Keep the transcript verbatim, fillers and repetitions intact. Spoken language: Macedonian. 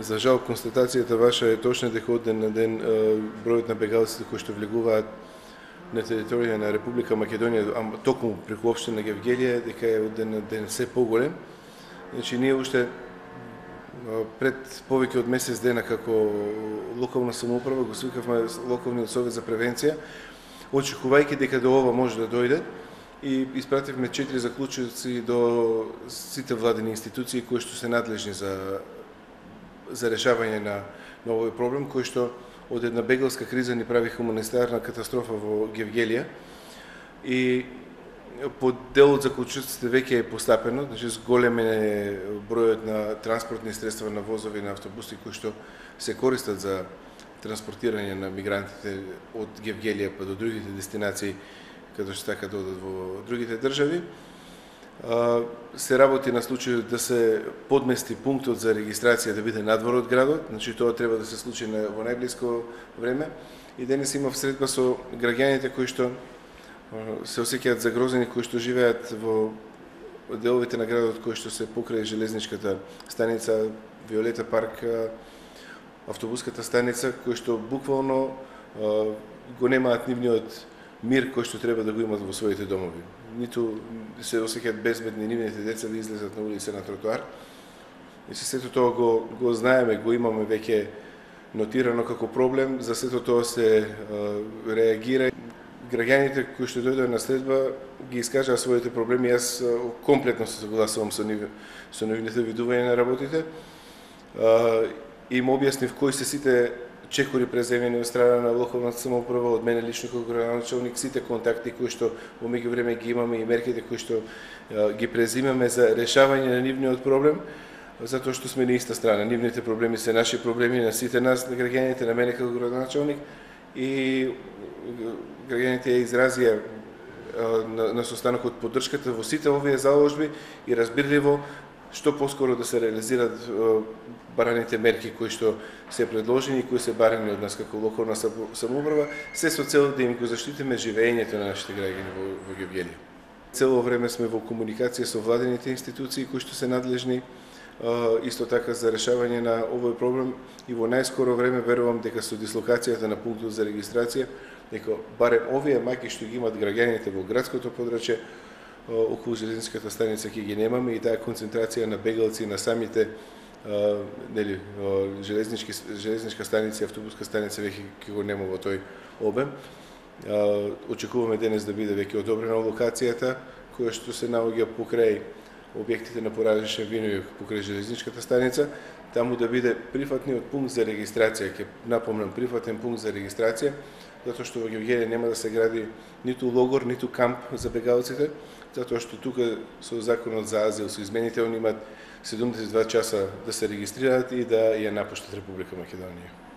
За жал, констатацијата ваша е точна дека од ден на ден бројот на бегалците кои што влегуваат на територија на Република Македонија, а токму преку општина Гевгелија, дека е од ден на ден се поголем. Значи, ние уште пред повеќе од месец дена како локална самоуправа го свикавме локалниот совет за превенција, очекувајќи дека до ова може да дојде, и испративме четири заклучоци до сите владени институции кои што се надлежни за за решавање на, на овој проблем, кој што од една бегалска криза ни прави хуманитарна катастрофа во Гевгелија. И по дел од заклучоците веќе е постапено, значи зголем е бројот на транспортни средства, на возови, на автобуси кои што се користат за транспортирање на мигрантите од Гевгелија па до другите дестинации каде што така да одат во другите држави. Се работи на случај да се подмести пунктот за регистрација да биде надвор од градот, значи тоа треба да се случи во најблиско време. И денес имав средба со граѓаните кои што се осеќаат загрозени, кои што живеат во деловите на градот кои што се покрај железничката станица, Виолета парк, автобуската станица, кои што буквално го немаат нивниот мир кој што треба да го имат во своите домови. Ниту се осеќаат безбедни нивните деца да излезат на улица, на тротоар. И се сето тоа го, го знаеме, го имаме веќе нотирано како проблем, за сето тоа се а, реагира. Граѓаните кои што дојдоа на следба ги искажаа своите проблеми, јас комплетно се согласувам со нив, со нивните видувања на работите. А, им објаснив кои се сите чекори преземени од страна на локалната самоуправа, од мене лично како градоначалник, сите контакти кои што во меѓувреме ги имаме и мерките кои што а, ги презимаме за решавање на нивниот проблем, затоа што сме на иста страна. Нивните проблеми се наши проблеми, на сите нас, на граѓаните, на мене како градоначалник, и граѓаните ја изразија а, на, на состанокот поддршката во сите овие заложби и разбирливо што поскоро да се реализираат бараните мерки кои што се предложени и кои се барани од нас како локална самоуправа, се со цел да им го заштитиме живеењето на нашите граѓани во, во Гевгелија. Цело време сме во комуникација со владените институции кои што се надлежни исто така за решавање на овој проблем, и во најскоро време верувам дека со дислокацијата на пунктот за регистрација, дека барем овие мајки што ги имат граѓаните во градското подрачје околу железничката станица ќе ги немаме, и таа концентрација на бегалци на самите а, нели, железнички, железничка станица и автобуска станица веќе ќе го нема во тој обем. А, очекуваме денес да биде веќе одобрена локацијата која што се наоѓа покрај објектите на поразлични винови покрај железничката станица, таму да биде прифатниот пункт за регистрација. Ќе напомнам, прифатен пункт за регистрација, затоа што во Гевгелија нема да се гради ниту логор, ниту камп за бегалците, затоа што тука со законот за азил, со измените, они имаат седумдесет и два часа да се регистрираат и да ја напуштат Република Македонија.